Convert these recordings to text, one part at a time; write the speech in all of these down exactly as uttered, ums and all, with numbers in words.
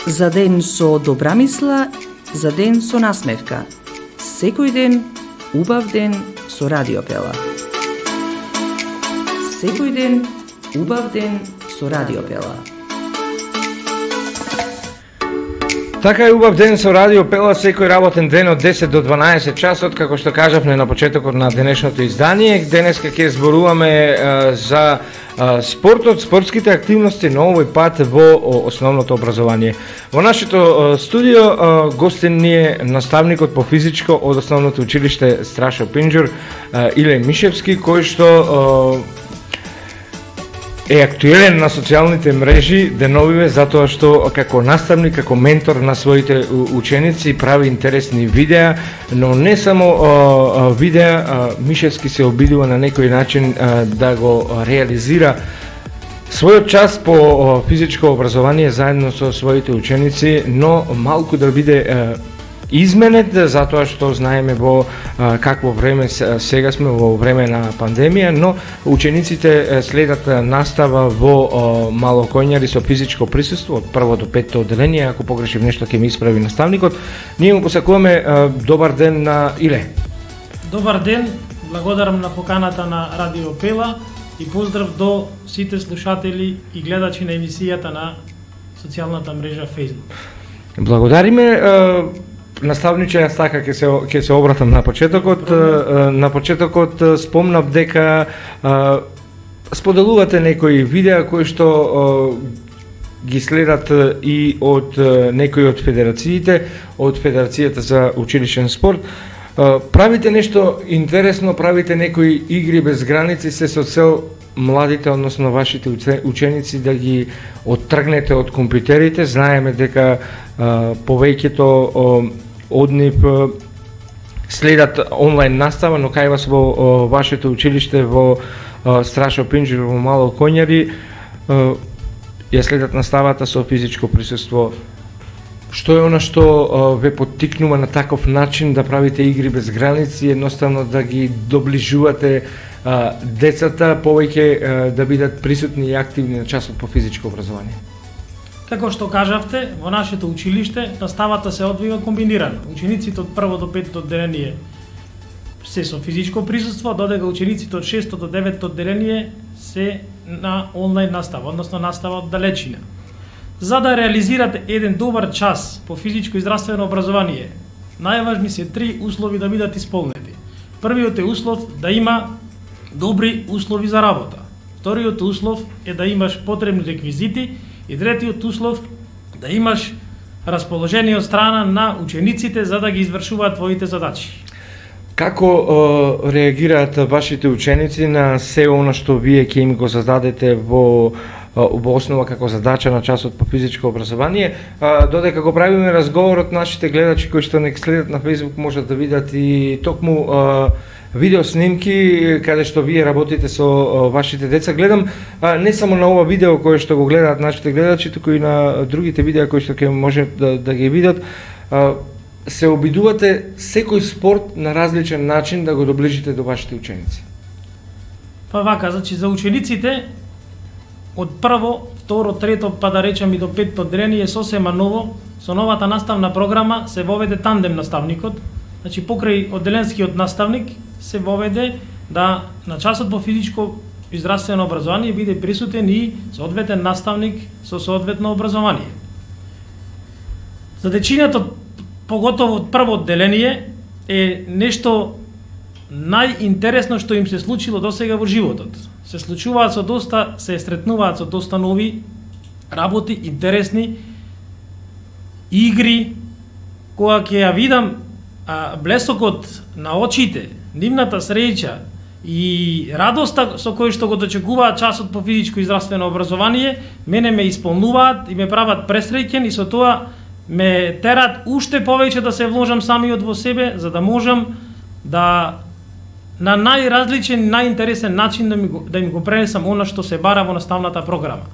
За ден со добра мисла, за ден со насмевка. Секој ден, убав ден со Радио Пела. Секој ден, убав ден со Радио Пела. Така е, убав ден со Радио Пела, секој работен ден од десет до дванаесет часот, како што кажавме на почетокот на денешното издание. Денеска ќе зборуваме е, за е, спортот, спортските активности, но овој пат во основното образование. Во нашето е, студио е, гостин ни е наставникот по физичко од основното училиште Страшо Пинџур, е, Иле Мишевски, кој што е, е актуелен на социјалните мрежи деновиве затоа што како наставник, како ментор на своите ученици прави интересни видеа, но не само а, видеа, а, Мишевски се обидува на некој начин а, да го реализира својот час по а, физичко образование заедно со своите ученици, но малку да биде а, изменет, затоа што знаеме во а, какво време сега сме, во време на пандемија, но учениците следат настава во а, Малокоњари со физичко присуство од прво до петто одделение. Ако погрешим нешто ќе ми исправи наставникот. Ние му посакуваме а, добар ден на Иле. Добар ден, благодарам на поканата на Радио Пела и поздрав до сите слушатели и гледачи на емисијата на социјалната мрежа Facebook. Благодариме. А, Наставниче, јас така ќе се ќе се обратам на почетокот. На почетокот спомнав дека а, споделувате некои видеа кои што а, ги следат и од некои од федерациите, од Федерацијата за училишен спорт. А, правите нешто интересно, правите некои игри без граници, се со цел младите, односно вашите ученици, да ги оттргнете од компјутерите. Знаеме дека а, повеќето од нив следат онлайн настава, но кај вас во о, вашето училиште во о, Страшо Пинџур во Малокоњари ја следат наставата со физичко присуство. Што е она што о, ве поттикнува на таков начин да правите игри без граници, едноставно да ги доближувате а, децата повеќе а, да бидат присутни и активни на часот по физичко образование? Како што кажавте, во нашето училиште наставата се одвива комбинирано. Учениците од прво до петто одделение се со физичко присуство, додека учениците од шесто до деветто одделение се на онлайн настава, односно настава од далечина. За да реализирате еден добар час по физичко и здравствено образование, најважни се три услови да бидат исполнети. Првиот е услов да има добри услови за работа. Вториот услов е да имаш потребни реквизити и третиот услов да имаш расположение од страна на учениците за да ги извршуваат твоите задачи. Како е, реагираат вашите ученици на се она што вие ќе им го зададете во во основа како задача на часот по физичко образование, додека го правиме разговорот, нашите гледачи кои што не следат на Facebook можат да видат и токму видео снимки каде што вие работите со вашите деца. Гледам не само на ова видео кое што го гледаат нашите гледачи, туку и на другите видеа кои што ќе може да, да ги видат. Се обидувате секој спорт на различен начин да го доближите до вашите ученици. Па вака, значи за учениците од прво, второ, трето, па да речем и до петто одделение е сосема ново. Со новата наставна програма се воведе тандем наставникот. Значи покрај одделенскиот наставник се воведе да на часот по физичко и здравствено образование биде присутен и соодветен наставник со соодветно образование. За дечињата, поготово од прво одделение, е нешто најинтересно што им се случило досега во животот. Се случуваат со доста, се сретнуваат со доста нови работи, интересни игри, кога ќе ја видам а, блесокот на очите, нивната среќа и радоста со кој што го дочекуваат часот по физичко и здравствено образование, мене ме исполнуваат и ме прават пресреќен и со тоа ме терат уште повеќе да се вложам самиот во себе, за да можам да на најразличен, најинтересен начин да, ми го, да им го пренесам она што се бара во наставната програма.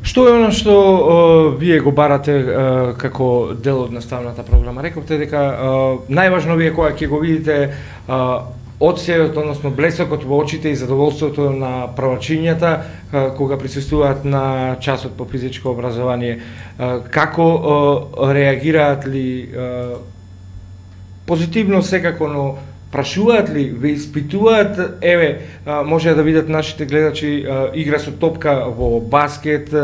Што е она што о, вие го барате о, како дел од наставната програма? Рековте дека о, најважно вие кога ќе го видите о, одсејот, односно блесокот во очите и задоволството на првачињата кога присуствуваат на часот по физичко образование. Како реагираат ли позитивно секако, но прашуваат ли, ве испитуваат, еве, може да видат нашите гледачи игра со топка во баскет,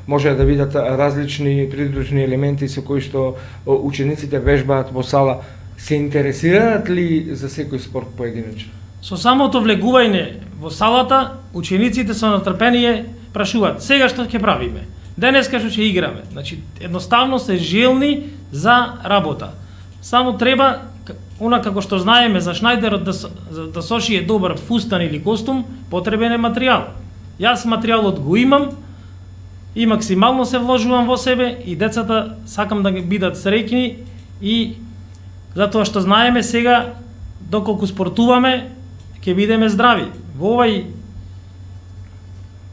може да видат различни придружни елементи со кои што учениците вежбаат во сала. Се интересираат ли за секој спорт поединечно? Со самото влегување во салата, учениците со натрпение прашуваат: сега што ќе правиме? Денеска што ќе играме? Значи, едноставно се желни за работа. Само треба, она како што знаеме за Шнајдерот да, да сошие добар фустан или костум, потребен е материјал. Јас материјалот го имам и максимално се вложувам во себе и децата сакам да ги бидат среќни и затоа што знаеме сега доколку спортуваме ќе бидеме здрави. Во овај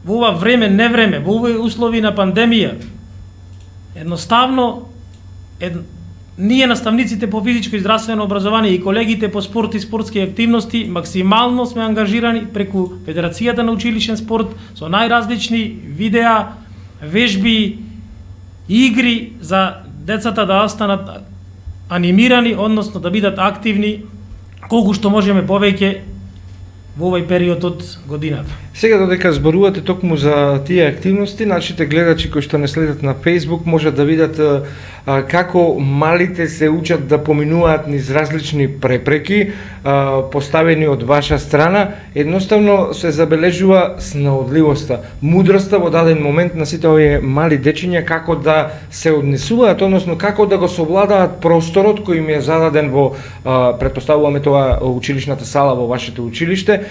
во ова време, не време, во овој услови на пандемија, едноставно ед, ние наставниците по физичко и здравствено образование и колегите по спорт и спортски активности максимално сме ангажирани преку Федерацијата на училишен спорт со најразлични видеа, вежби, игри за децата да останат анимирани, односно да бидат активни колку што можеме повеќе во овој период од годината. Сега додека зборувате токму за тие активности, нашите гледачи кои што не следат на Facebook можат да видат а, како малите се учат да поминуваат низ различни препреки а, поставени од ваша страна. Едноставно се забележува снаодливоста, мудроста во даден момент на сите овие мали дечиња како да се однесуваат, односно како да го совладаат просторот кој им е зададен во, а, претпоставуваме тоа, училишната сала во вашето училиште.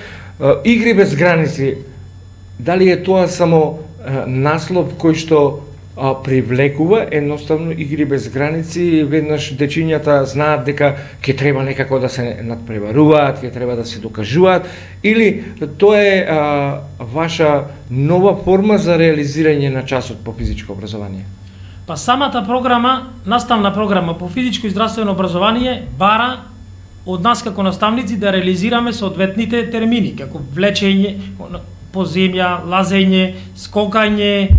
Игри без граници, дали е тоа само а, наслов кој што а, привлекува? Едноставно игри без граници, веднаш дечињата знаат дека ќе треба некако да се надпреваруваат, ќе треба да се докажуваат, или тоа е а, ваша нова форма за реализирање на часот по физичко образование? Па самата програма, наставна програма по физичко и здравствено образование бара од нас како наставници да реализираме соодветните термини, како влечење по земја, лазење, скокање,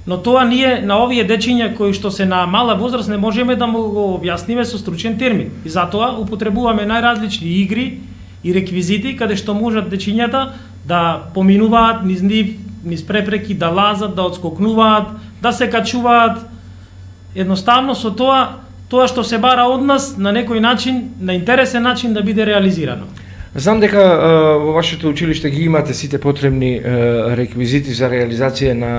но тоа ние на овие дечиња кои што се на мала возраст не можеме да му го објасниме со стручен термин. И затоа употребуваме најразлични игри и реквизити каде што можат дечињата да поминуваат низ нив, низ препреки, да лазат, да одскокнуваат, да се качуваат. Едноставно со тоа тоа што се бара од нас на некој начин, на интересен начин да биде реализирано. Знам дека а, во вашето училиште ги имате сите потребни а, реквизити за реализација на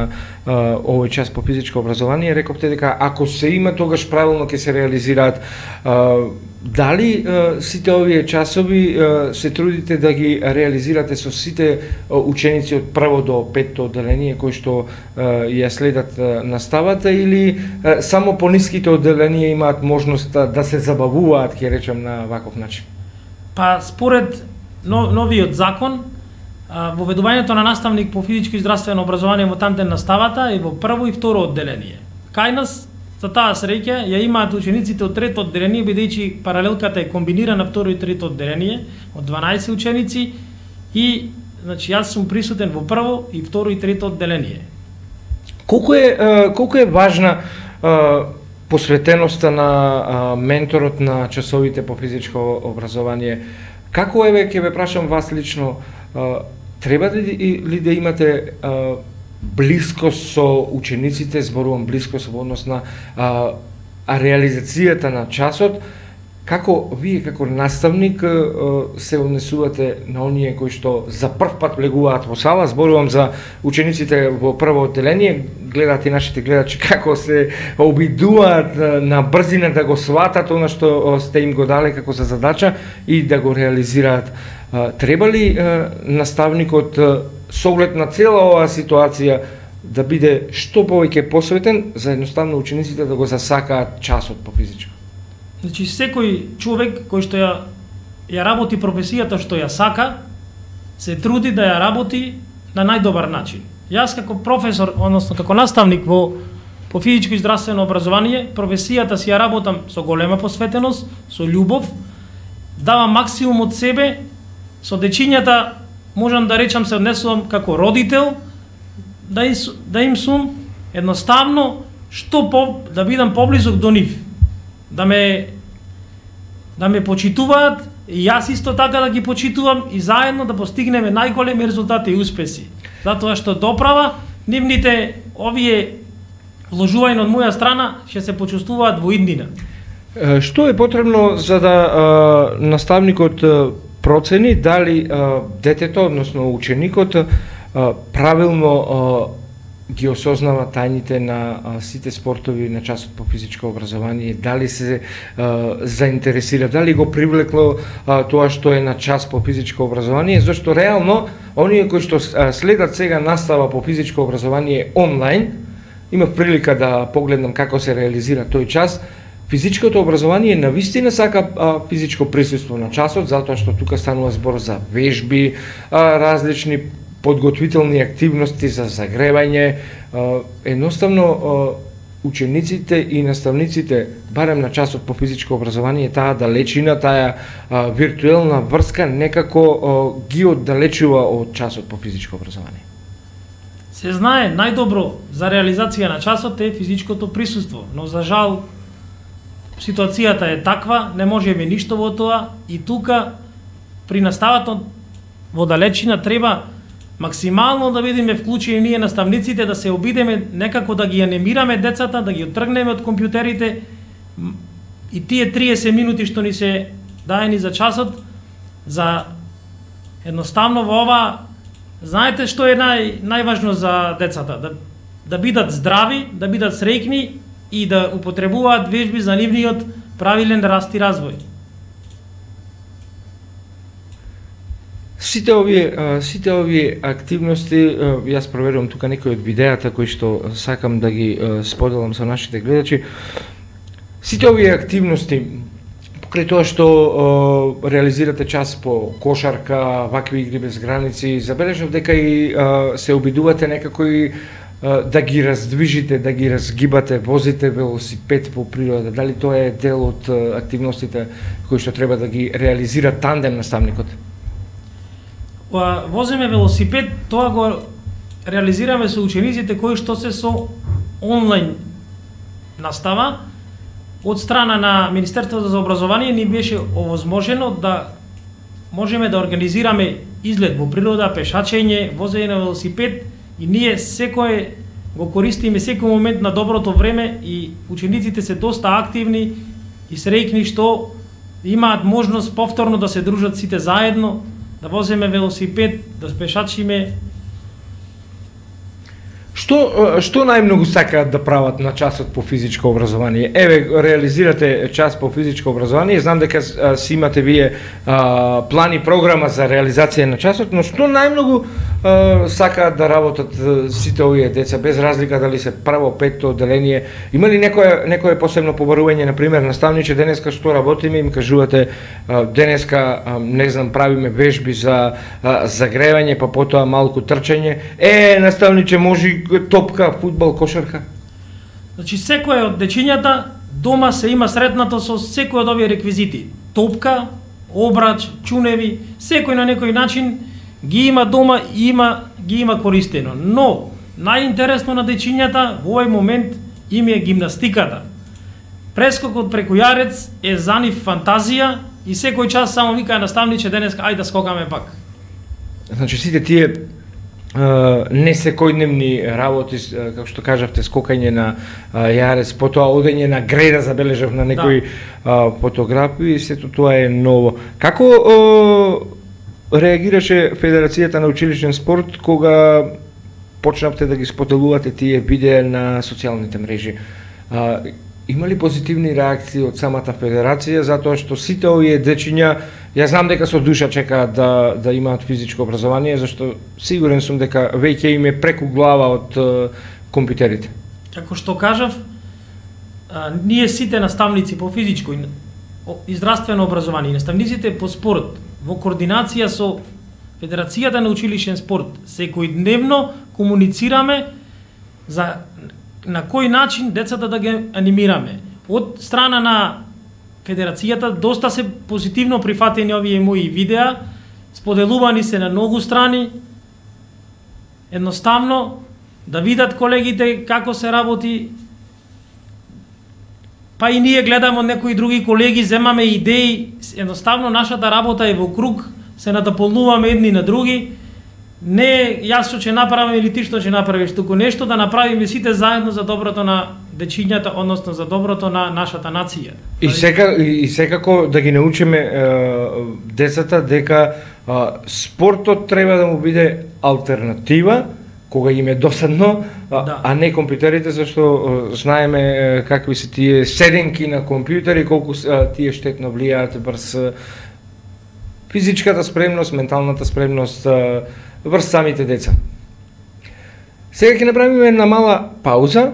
а, овој час по физичко образование. Рековте дека ако се има, тогаш правилно ќе се реализираат. А, дали а, сите овие часови а, се трудите да ги реализирате со сите а, ученици од прво до петто одделение кои што а, ја следат а, наставата, или а, само пониските одделенија имаат можност а, да се забавуваат, ќе речем, на ваков начин? Па според новиот закон, воведувањето на наставник по физичко и здравствено образование во тандем наставата е во прво и второ одделение. Кај нас, за таа среќа, ја имаат учениците од трето одделение, бидејќи паралелката е комбинирана второ и трето одделение, од дванаесет ученици, и значи јас сум присутен во прво и второ и трето одделение. Колку е колку е важна посветеноста на а, менторот на часовите по физичко образование? Како еве ќе ве прашам вас лично, а, треба ли, ли да имате а, блискост со учениците, зборувам блискост во однос на а, а реализацијата на часот? Како вие како наставник се однесувате на оние кои што за прв пат влегуваат во сала? Зборувам за учениците во прво одделение, гледаат и нашите гледачи како се обидуваат на брзина да го сватат она што сте им го дале како за задача и да го реализираат. Треба ли наставникот со оглед на цела оваа ситуација да биде што повеќе посветен за едноставно учениците да го засакаат часот по физичко? Значи, секој човек кој што ја, ја работи професијата што ја сака, се труди да ја работи на најдобар начин. Јас како професор, односно како наставник во по физичко и здравствено образование, професијата си ја работам со голема посветеност, со љубов, давам максимум од себе со дечињата можам да речам се однесувам како родител, да им, да им сум едноставно што по, да бидам поблизок до нив, да ме да ме почитуваат и јас исто така да ги почитувам и заедно да постигнеме најголеми резултати и успеси. Затоа што доправа нивните овие вложувања од моја страна ќе се почувствуваат во иднина. Што е потребно за да а, наставникот а, процени дали а, детето, односно ученикот, а, правилно а, ги осознава тајните на а, сите спортови на часот по физичко образование, дали се а, заинтересира, дали го привлекло а, тоа што е на час по физичко образование, зашто реално оние кои што а, следат сега настава по физичко образование онлайн, имав прилика да погледнам како се реализира тој час. Физичкото образование навистина сака а, физичко присуство на часот, затоа што тука станува збор за вежби, а, различни подготвителни активности за загревање. А, едноставно а, учениците и наставниците, барем на часот по физичко образование, таа далечина, таа а, виртуелна врска некако а, ги оддалечува од часот по физичко образование. Се знае, најдобро за реализација на часот е физичкото присуство, но за жал ситуацијата е таква, не можеме ништо во тоа и тука при наставата во далечина треба максимално да бидеме вклучени ние наставниците, да се обидеме некако да ги анимираме децата, да ги оттргнеме од компјутерите и тие триесет минути што ни се даени за часот, за едноставно во ова, знаете што е нај, најважно за децата, да, да бидат здрави, да бидат среќни и да употребуваат вежби за нивниот правилен раст и развој. Сите овие, сите овие активности, јас проверувам тука некои од видеата кои што сакам да ги споделам со нашите гледачи. Сите овие активности, покрај тоа што е, реализирате час по кошарка, вакви игри без граници, забележав дека и е, се обидувате некако и е, да ги раздвижите, да ги разгибате, возите велосипед по природа. Дали тоа е дел од активностите кои што треба да ги реализира тандем наставникот? Возиме велосипед, тоа го реализираме со учениците кои што се со онлайн настава. Од страна на Министерството за образование ни беше овозможено да можеме да организираме излет во природа, пешачење, возење на велосипед и ние секој го користиме секој момент на доброто време и учениците се доста активни и среќни што имаат можност повторно да се дружат сите заедно, да воземе велосипед, да пешачиме. Што што најмногу сакаат да прават на часот по физичко образование? Еве, реализирате час по физичко образование, знам дека си имате вие а, план и програма за реализација на часот, но што најмногу а, сакаат да работат сите овие деца, без разлика дали се прво, петто одделение? Има ли некое некое посебно побарување, на пример, наставниче, денеска што работиме, им кажувате а, денеска а, не знам, правиме вежби за а, загревање, па потоа малку трчање. Е, наставниче, може топка, фудбал, кошарка? Значи, секој од дечињата дома се има сретнато со секој од овие реквизити. Топка, обрач, чуневи, секој на некој начин ги има дома и има, ги има користено. Но, најинтересно на дечињата во овој момент им е гимнастиката. Прескокот преку јарец е за нив фантазија и секој час само вика наставниче денеска ајде да скокаме пак. Значи, сите тие Uh, не секојдневни работи, uh, како што кажавте, скокање на uh, јарец, потоа одење на греда, забележав на некои да. uh, фотографии, сето тоа е ново. Како uh, реагираше Федерацијата на училишен спорт кога почнавте да ги споделувате тие видеа на социјалните мрежи? Uh, Има ли позитивни реакции од самата федерација, затоа што сите овие дечиња, ја знам дека со душа чекаат да, да имаат физичко образование, зашто сигурен сум дека веќе им е преку глава од компјутерите. Како што кажав, а, ние сите наставници по физичко и здравствено образование, и наставниците по спорт, во координација со Федерацијата на училишен спорт, секојдневно комуницираме за на кој начин децата да ги анимираме. Од страна на Федерацијата доста се позитивно прифатени овие мои видеа споделувани се на многу страни, едноставно да видат колегите како се работи, па и ние гледаме од некои други колеги, земаме идеи, едноставно нашата работа е во круг, се надополнуваме едни на други, не јас што ќе направам или ти што ќе направиш, туку нешто да направиме сите заедно за доброто на дечињата, односно за доброто на нашата нација. И сека и секако да ги научиме е, децата дека е, спортот треба да му биде алтернатива кога им е досадно, а, да. а не компјутерите, зашто знаеме е, какви се тие седенки на компјутери, колку е, тие штетно влијаат врз физичката спремност, менталната спремност е, врз самите деца. Сега ќе направиме една мала пауза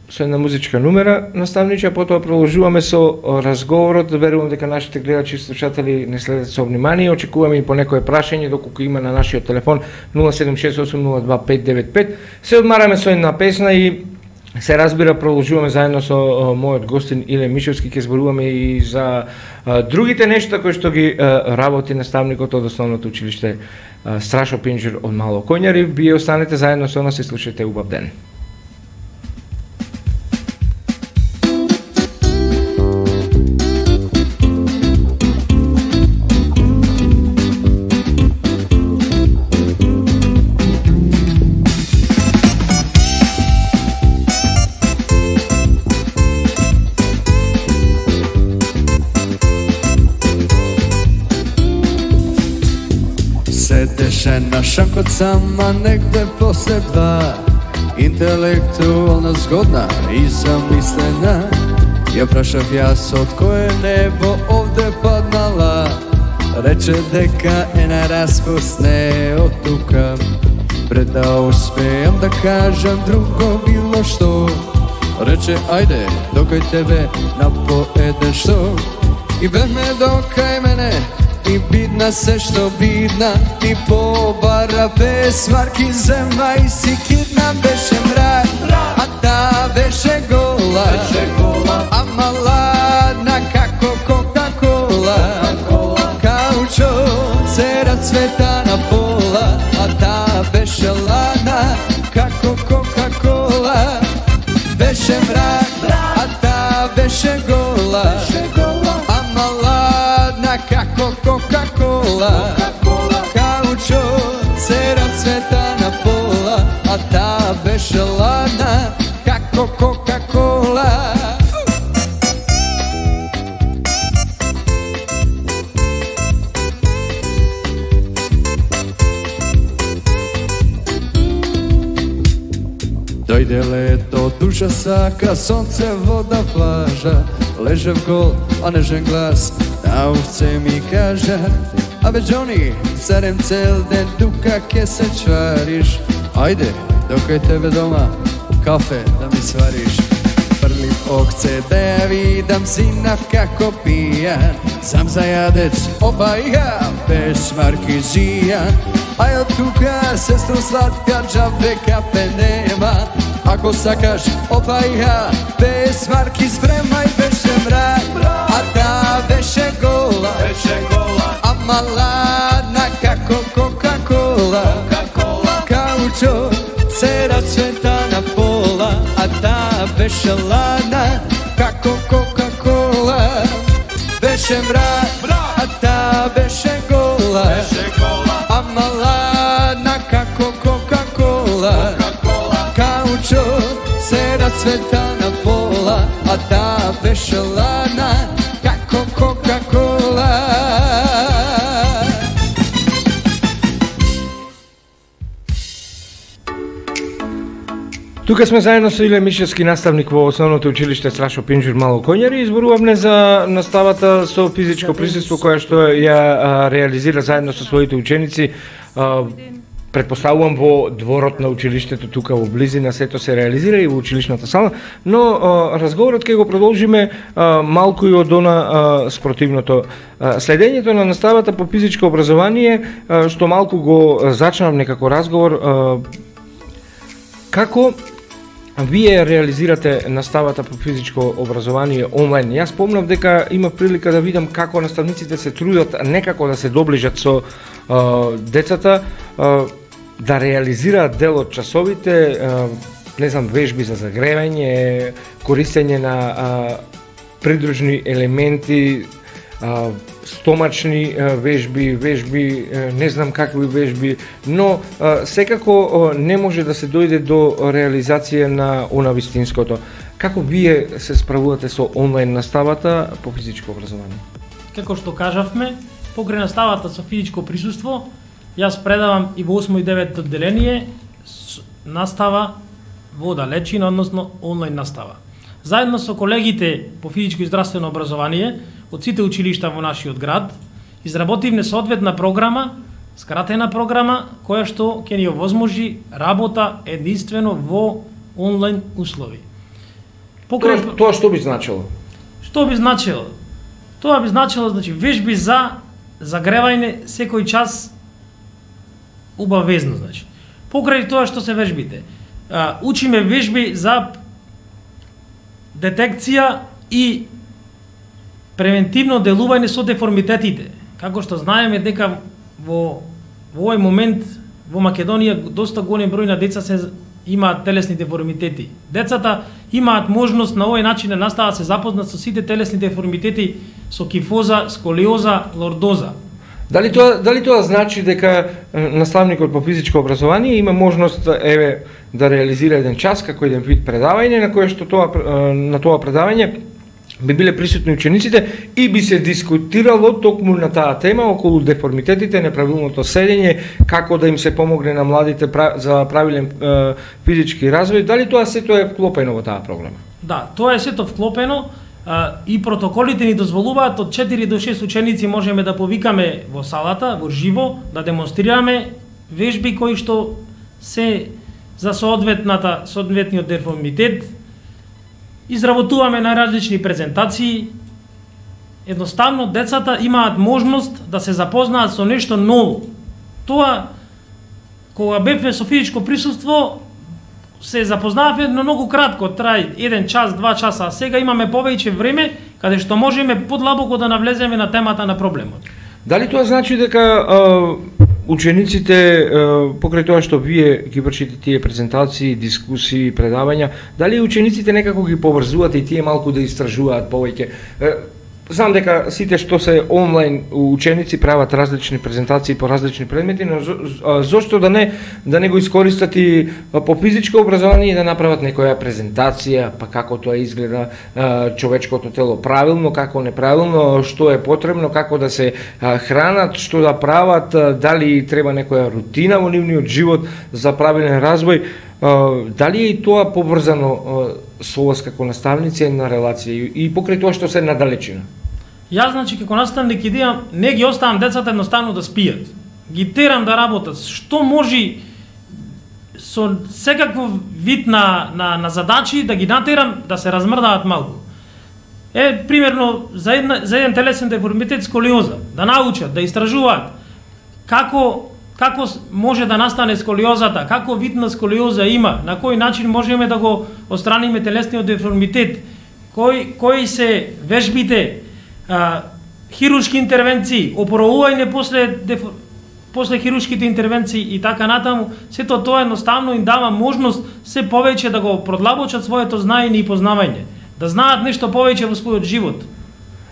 со една музичка numera, наставниче, потоа продолжуваме со разговорот. Верувам дека нашите гледачи и слушатели не следат со внимание. Очекуваме и по некое прашање доколку има на нашиот телефон нула седум шест осум нула два пет девет пет. Се одмараме со една песна и се разбира продолжуваме заедно со о, мојот гостин Иле Мишевски, ќе зборуваме и за а, другите нешта кои што ги а, работи наставникот од основното училиште а, Страшо Пинџур од Мало Коњари. Вие останете заедно со нас и слушате убав ден. Седеше на шанкот сама негде после два, интелектуална, згодна и замислена. Ја прашав јас од кое небо овде паднала, рече дека е на распуст не од тука. Пред да успеам да кажам друго било што, рече ајде докај тебе на по еден што. И бевме докај мене и бидна се што бидна, и побара без марки зема и си кидна. Беше мрак, а та беше гола, а маладна како Кока-кола. Каучот се расцвета на пола, а та беше ладна како Кока-кола. Беше мрак, а та беше гола, а маладна како Кока-кола. Каучот се расцвета на пола, а та беше ладна како Кока-кола. Дојде лето, душа сака, сонце, вода, плажа. Лежев гол, а нежен глас на овце ми кажа: абе Джони, зарем цел ден тука ке се чвариш? Ајде, докај тебе дома, кафе да ми свариш. Фрлив окце да ја видам синав како пијан, сам зајадец, опаја, без маркизијан. Ај од тука, сестро сладка, джабе кафе нема. Ако сакаш, опаја, без марки спремај. Беше мрак, а та беше гола, а маладна како Кока-кола. Каучот се расцвета на пола, а та беше ладна како Кока-кола. Беше мрак, а та беше гола, а маладна како Кока-кола. Каучот се расцвета на пола, а та беше ладна како Кока-кола. Тука сме заедно со Иле Мишевски, наставник во основното училиште Страшо Пинџур Мало Коњари. Изборувавме за наставата со физичко присуство која што ја а, реализира заедно со своите ученици. А, Предпоставувам во дворот на училиштето тука во близина, сето се реализира и во училишната сала, но а, разговорот ќе го продолжиме а, малку и од она а, спротивното. А, следењето на наставата по физичко образование, а, што малку го зачнав некако разговор, а, како вие реализирате наставата по физичко образование онлайн. Јас спомнав дека има прилика да видам како наставниците се трудат некако да се доближат со а, децата, а, да реализираат дел од часовите, а, не знам, вежби за загревање, користење на а, придружни елементи, а, стомачни а, вежби, вежби, а, не знам какви вежби, но а, секако а, не може да се дојде до реализација на она вистинското. Како вие се справувате со онлайн наставата по физичко образование? Како што кажавме, покрај наставата со физичко присуство, јас предавам и во осмо и девето одделение настава во далечина, односно онлайн настава. Заедно со колегите по физичко и здравствено образование од сите училишта во нашиот град, изработивме соодветна програма, скратена програма, која што ќе ни овозможи работа единствено во онлайн услови. Покрај... Тоа, тоа што би значило? Што би значило? Тоа би значило, значи, вежби за загревање секој час убавезно, значи. Покрај тоа што се вежбите, а, учиме вежби за детекција и превентивно делување со деформитетите. Како што знаеме дека во, во овој момент во Македонија доста голем број на деца се имаат телесни деформитети. Децата имаат можност на овој начин да настават се запознат со сите телесни деформитети, со кифоза, сколиоза, лордоза. Дали тоа, дали тоа значи дека наставникот по физичко образование има можност еве да реализира еден час како еден вид предавање на кое што тоа на тоа предавање би биле присутни учениците и би се дискутирало токму на таа тема околу деформитетите, неправилното седење, како да им се помогне на младите за правилен е, физички развој. Дали тоа сето е вклопено во таа програма? Да, тоа е сето вклопено а, и протоколите ни дозволуваат од четири до шест ученици можеме да повикаме во салата, во живо, да демонстрираме вежби кои што се за соодветната соодветниот деформитет. Изработуваме на различни презентации. Едноставно децата имаат можност да се запознаат со нешто ново. Тоа кога бевме со физичко присуство се запознаваме но многу кратко, трај еден час, два часа, а сега имаме повеќе време каде што можеме подлабоко да навлеземе на темата на проблемот. Дали тоа значи дека а, учениците, покрај тоа што вие ги вршите тие презентации, дискусии, предавања, дали учениците некако ги поврзуваат и тие малку да истражуваат повеќе? Знам дека сите што се онлайн ученици прават различни презентации по различни предмети, но зошто да не да не го искористат и по физичко образование и да направат некоја презентација, па како тоа изгледа човечкото тело правилно, како неправилно, што е потребно, како да се хранат, што да прават, дали треба некоја рутина во нивниот живот за правилен развој. Дали е и тоа поврзано со вас како наставници на релација и покрај тоа што се надалечина? Јас, значи, како наставник идејам, не ги оставам децата едноставно да спијат. Ги терам да работат. Што може со секаков вид на, на, на задачи да ги натерам да се размрдаат малку. Е, примерно, за, една, за еден телесен деформитет сколиоза, да научат, да истражуваат како како може да настане сколиозата, како вид на сколиоза има, на кој начин можеме да го отстраниме телесниот деформитет, кои, кои се вежбите, а, хируршки интервенции, опоровување после, деф... после хируршките интервенции и така натаму, сето тоа едноставно им дава можност се повеќе да го продлабочат своето знаење и познавање, да знаат нешто повеќе во својот живот,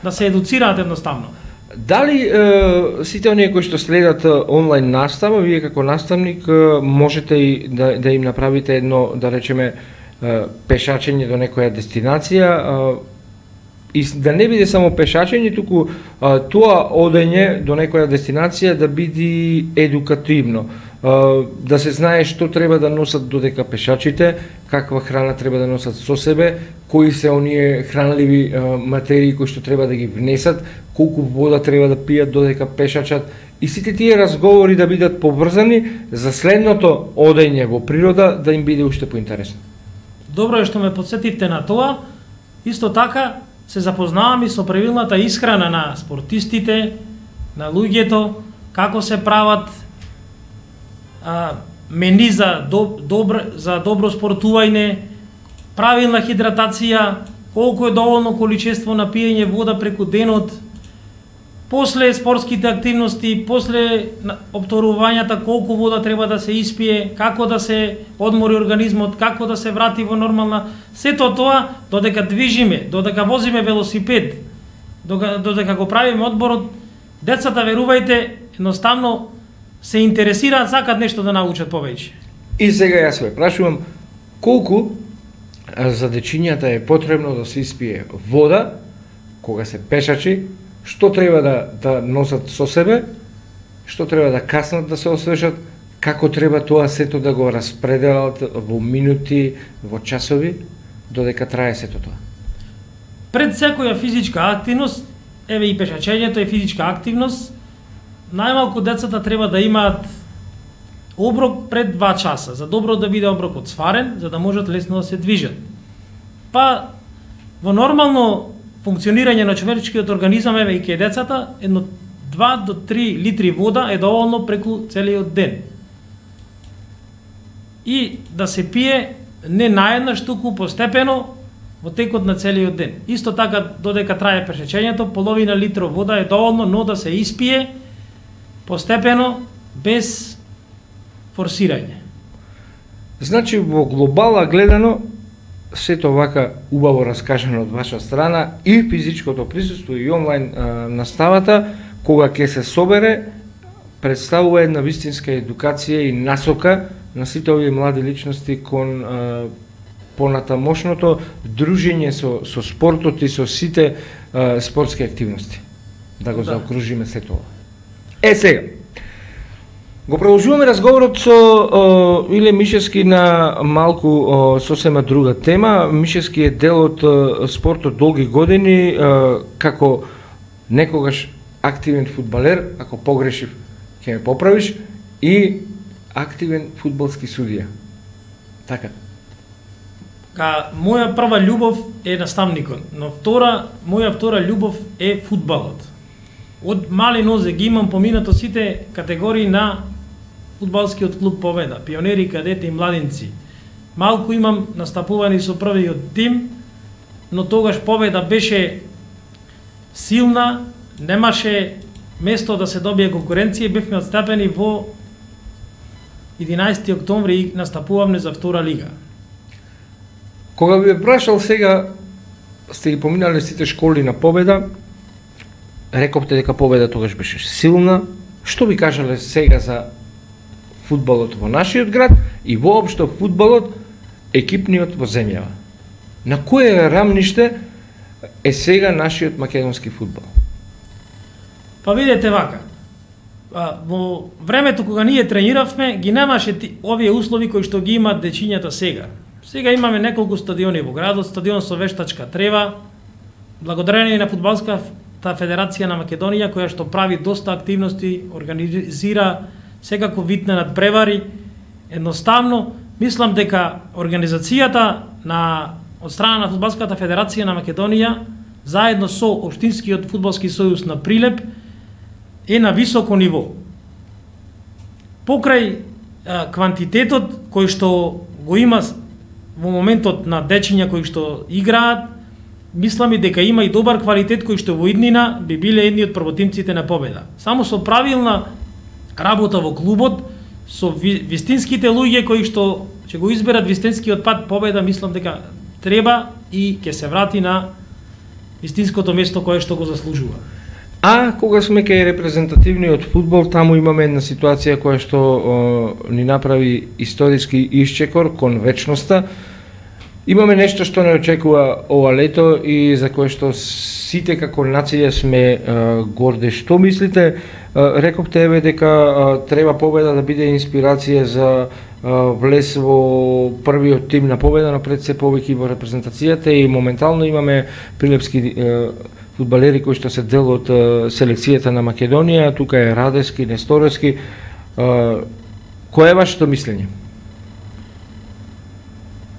да се едуцираат едноставно. Дали е, сите оние кои што следат онлайн настава, вие како наставник е, можете и да, да им направите едно, да речеме, е, пешачење до некоја дестинација, е, и да не биде само пешачење, туку е, тоа одење до некоја дестинација да биде едукативно, е, да се знае што треба да носат додека пешачите, каква храна треба да носат со себе, кои се оние хранливи е, материи кои што треба да ги внесат, колку вода треба да пијат додека пешачат, и сите тие разговори да бидат поврзани за следното одење во природа да им биде уште поинтересно. Добро е што ме подсетивте на тоа. Исто така се запознавам и со правилната исхрана на спортистите, на луѓето, како се прават а, мени за, доб, добро, за добро спортување, правилна хидратација, колку е доволно количество на пиење вода преку денот, после спортските активности, после обторувањата колку вода треба да се испие, како да се одмори организмот, како да се врати во нормална, сето тоа додека движиме, додека возиме велосипед, додека го правиме одморот, децата, верувајте, едноставно се интересираат, сакат нешто да научат повеќе. И сега јас ве прашувам, колку за дечињата е потребно да се испие вода кога се пешачи, што треба да, да носат со себе, што треба да каснат да се освежат, како треба тоа сето да го распределат во минути, во часови, додека трае сето тоа. Пред секоја физичка активност, еве и пешачењето е физичка активност, најмалку децата треба да имаат оброк пред два часа, за добро да биде оброкот сварен, за да можат лесно да се движат. Па, во нормално функционирање на човечкиот организам, еве и кај децата, едно два до три литри вода е доволно преку целиот ден. И да се пие не наеднаш, туку постепено во текот на целиот ден. Исто така, додека трае пешачењето, половина литро вода е доволно, но да се испие постепено, без форсирање. Значи, во глобала гледано, сето вака убаво раскажано од ваша страна, и физичкото присуство, и онлайн а, наставата, кога ќе се собере, представува една вистинска едукација и насока на сите овие млади личности кон а, понатамошното дружење со, со спортот и со сите а, спортски активности. Да го да. заокружиме се тоа. Е, сега, го продолжуваме разговорот со о, Иле Мишевски на малку о, сосема друга тема. Мишевски е дел од о, спортот долги години, о, како некогаш активен фудбалер, ако погрешив ќе ме поправиш, и активен фудбалски судија. Така. Ка моја прва љубов е наставникот, но втора, моја втора љубов е фудбалот. Од мали нозе ги имам поминато сите категории на фудбалскиот клуб Победа, пионери, кадети и младинци. Малку имам настапувани со првиот тим, но тогаш Победа беше силна, немаше место да се добие конкуренција, бевме отстапени во единаесети октомври и настапувавме за втора лига. Кога би прашал сега, сте ги поминали сите школи на Победа, рековте дека Победа тогаш беше силна, што би кажале сега за фудбалот во нашиот град и воопшто фудбалот екипниот во земјава? На кое рамниште е сега нашиот македонски фудбал? Па видете вака, во времето кога ние трениравме, ги немаше овие услови кои што ги имаат дечињата сега. Сега имаме неколку стадиони во градот, стадион со вештачка трева, благодарение на Фудбалската федерација на Македонија, која што прави доста активности, организира секако вид на надпревари. Едноставно, мислам дека организацијата на од страна на Фудбалската федерација на Македонија, заедно со Општинскиот фудбалски сојуз на Прилеп, е на високо ниво. Покрај а, квантитетот кој што го има во моментот на дечиња кои што играат, мислам и дека има и добар квалитет кој што во иднина би биле едни од првотимците на Победа. Само со правилна работа во клубот, со вистинските луѓе кои што ќе го изберат вистинскиот пат, Победа мислам дека треба и ќе се врати на вистинското место кое што го заслужува. А кога сме кај репрезентативниот фудбал, таму имаме една ситуација која што о, ни направи историски исчекор кон вечноста. Имаме нешто што не очекува ова лето и за кое што сите како нација сме е, горди. Што мислите? Е, рековте еве дека е, треба Победа да биде инспирација за е, влез во првиот тим на Победа, но пред се повеќе во репрезентацијата, и моментално имаме прилепски е, фудбалери кои што се дел од е, селекцијата на Македонија. Тука е Радески, Несторевски. Е, кое е вашето мислење?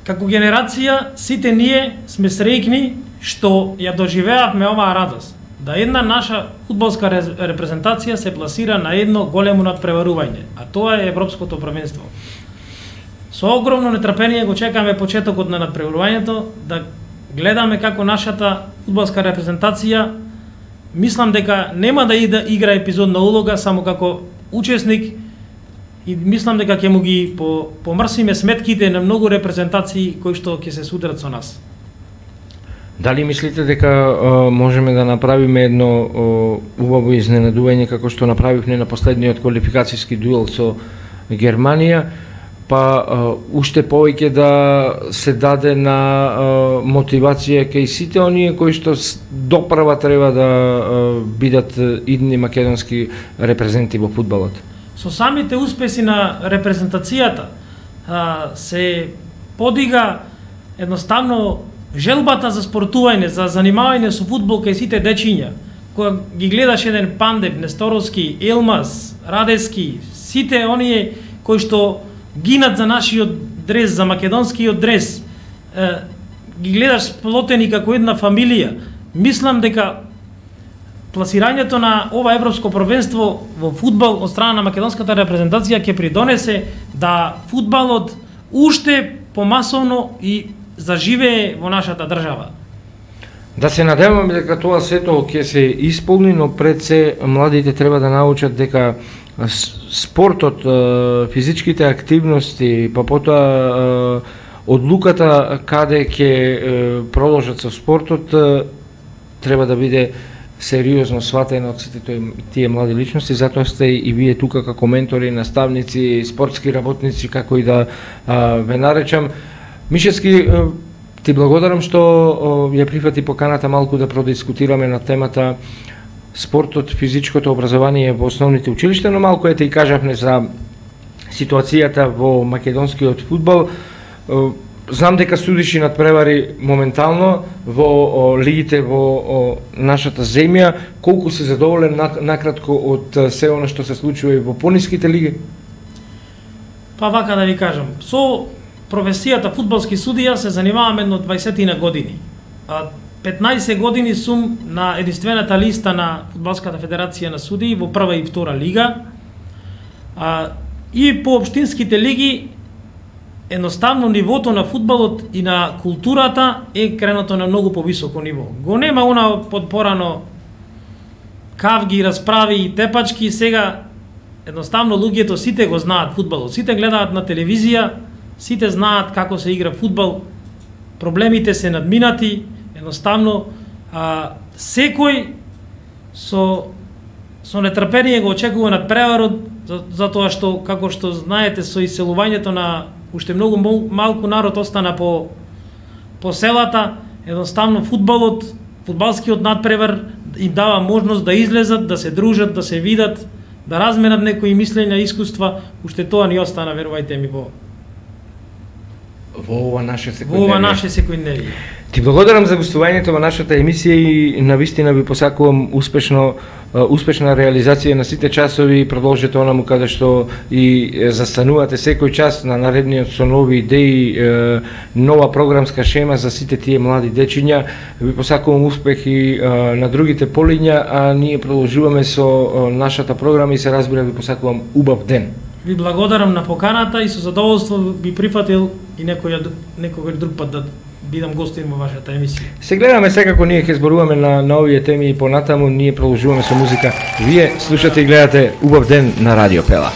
Како генерација, сите ние сме среќни што ја доживеавме оваа радост. Да една наша фудбалска репрезентација се пласира на едно големо надпреварување, а тоа е Европското првенство. Со огромно нетрпение го чекаме почетокот на надпреварувањето, да гледаме како нашата фудбалска репрезентација, мислам дека нема да игра епизодна улога само како учесник, и мислам дека ќе му ги по, помрсиме сметките на многу репрезентации кои што ќе се судрат со нас. Дали мислите дека а, можеме да направиме едно а, убаво изненадување како што направивме на последниот квалификацијски дуел со Германија, па а, уште повеќе да се даде на а, мотивација кај сите оние кои што допрва треба да а, бидат идни македонски репрезенти во фудбалот? Со самите успеси на репрезентацијата а, се подига едноставно желбата за спортување, за занимавање со фудбал кај сите дечиња. Кога ги гледаш еден Пандев, Несторовски, Елмаз, Радески, сите оние кои што гинат за нашиот дрес, за македонскиот дрес, е, ги гледаш сплотени како една фамилија. Мислам дека пласирањето на ова европско првенство во фудбал од страна на македонската репрезентација ќе придонесе да фудбалот уште помасовно и заживее во нашата држава. Да се надеваме дека тоа сето ќе се исполни, но пред се младите треба да научат дека спортот, физичките активности, па потоа одлуката каде ќе продолжат со спортот треба да биде сериозно сватена од сите тие млади личности, затоа сте и вие тука како ментори, наставници, спортски работници, како и да ве наречам. Мишевски, ти благодарам што ја прифати поканата малку да продискутираме на темата спортот, физичкото образование во основните училишта, но малку ете и кажавме за ситуацијата во македонскиот фудбал. Знам дека судиш и надпревари моментално во лигите во нашата земја. Колку си задоволен накратко од се она што се случува и во пониските лиги? Па вака да ви кажам, со професијата фудбалски судија се занимавам едно дваесет години. петнаесет години сум на единствената листа на Фудбалската федерација на судии во прва и втора лига. И по општинските лиги едноставно нивото на фудбалот и на културата е кренато на многу повисоко ниво. Го нема она подпорано кавги, расправи и тепачки, сега едноставно луѓето сите го знаат фудбалот, сите гледаат на телевизија, сите знаат како се игра фудбал, проблемите се надминати, едноставно а, секој со со нетрпение го очекува надпреварот, за, затоа што, како што знаете, со иселувањето на уште многу малку народ остана по по селата, едноставно фудбалот, фудбалскиот надпревар им дава можност да излезат, да се дружат, да се видат, да разменат некои мислења, искуства, уште тоа ни остана, верувајте ми, во во ова наше секојдневие. Во ова наше секојдневие. Ти благодарам за гостувањето во нашата емисија и навистина ви посакувам успешно успешна реализација на сите часови и продолжете онаму каде што и застанувате секој час на наредниот со нови идеи, нова програмска шема за сите тие млади дечиња. Ви посакувам успех и на другите полиња, а ние продолжуваме со нашата програма и се разбира ви посакувам убав ден. Ви благодарам на поканата и со задоволство би прифатил и некој некој друг пат да бидам гостин во вашата емисија. Се гледаме секако, ние ќе зборуваме на, на овие теми и понатаму, ние продолжуваме со музика. Вие слушате и гледате Убав ден на Радио Пела.